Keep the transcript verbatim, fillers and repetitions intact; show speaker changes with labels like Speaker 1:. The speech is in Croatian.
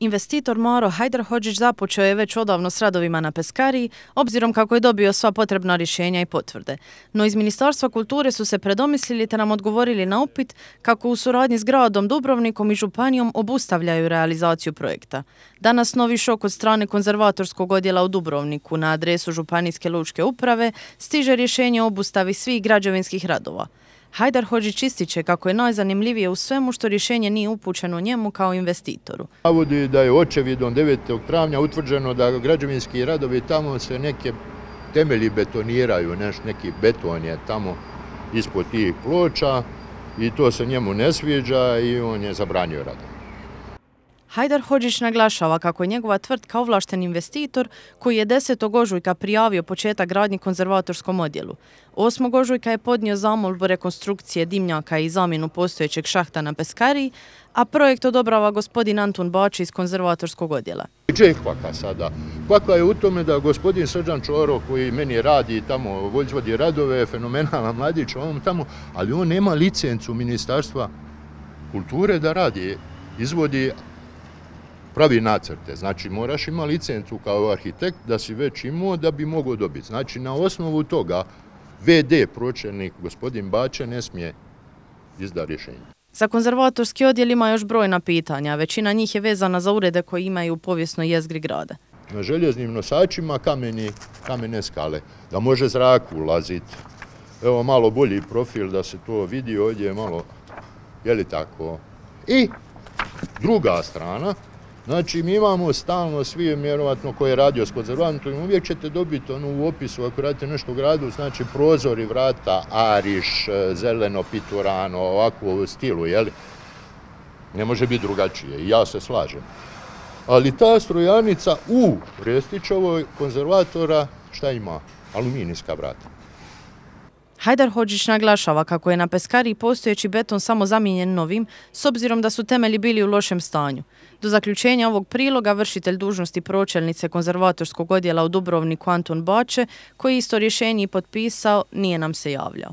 Speaker 1: Investitor Maro Hajdarhodžić započeo je već odavno s radovima na Peskariji, obzirom kako je dobio sva potrebna rješenja i potvrde. No iz Ministarstva kulture su se predomislili te nam odgovorili na upit kako u suradnji s gradom Dubrovnikom i županijom obustavljaju realizaciju projekta. Danas novi šok od strane konzervatorskog odjela u Dubrovniku na adresu Županijske lučke uprave stiže rješenje o obustavi svih građevinskih radova. Hajdarhodžić ističe kako je najzanimljivije u svemu što rješenje nije upućeno njemu kao investitoru.
Speaker 2: Navodi da je očevidom devetog travnja utvrđeno da građevinski radovi tamo se neke temelji betoniraju, neš, neki beton je tamo ispod tih ploča i to se njemu ne sviđa i on je zabranio radove.
Speaker 1: Hajdarhodžić naglašava kako je njegova tvrtka ovlašten investitor koji je desetog ožujka prijavio početak gradnje konzervatorskom odjelu. osmog ožujka je podnio zamolbu rekonstrukcije dimnjaka i zamjenu postojećeg šahta na Peskariji, a projekt odobrava gospodin Antun Bač iz konzervatorskog odjela.
Speaker 2: Če kvaka sada? Kvaka je u tome da gospodin Srđan Čoro koji meni radi tamo, izvodi radove, fenomenalan mladić, on tamo, ali on nema licencu Ministarstva kulture da radi, izvodi, pravi nacrte. Znači, moraš ima licencu kao arhitekt da si već imao da bi mogao dobiti. Znači, na osnovu toga ve de pročelnik gospodin Bače ne smije izdati rješenje.
Speaker 1: Za konzervatorski odjel ima još brojna pitanja. Većina njih je vezana za urede koje imaju u povijesnoj jezgri grada.
Speaker 2: Na željeznim nosačima kameni, kamene skale, da može zrak ulaziti. Evo malo bolji profil da se to vidi ovdje malo, je li tako? I druga strana, znači, mi imamo stalno svi, vjerovatno, ko je radio s konzervatorom, uvijek ćete dobiti ono u opisu, ako radite nešto u gradu, znači prozori, vrata, ariš, zeleno, piturano, ovako u stilu, jeli? Ne može biti drugačije i ja se slažem. Ali ta strojarnica u Restićevoj konzervatora, šta ima? Aluminijska vrata.
Speaker 1: Hajdarhodžić naglašava kako je na Peskariji postojeći beton samo zamijenjen novim, s obzirom da su temelji bili u lošem stanju. Do zaključenja ovog priloga vršitelj dužnosti pročelnice konzervatorskog odjela u Dubrovniku Antun Bače, koji isto rješenje i potpisao, nije nam se javljao.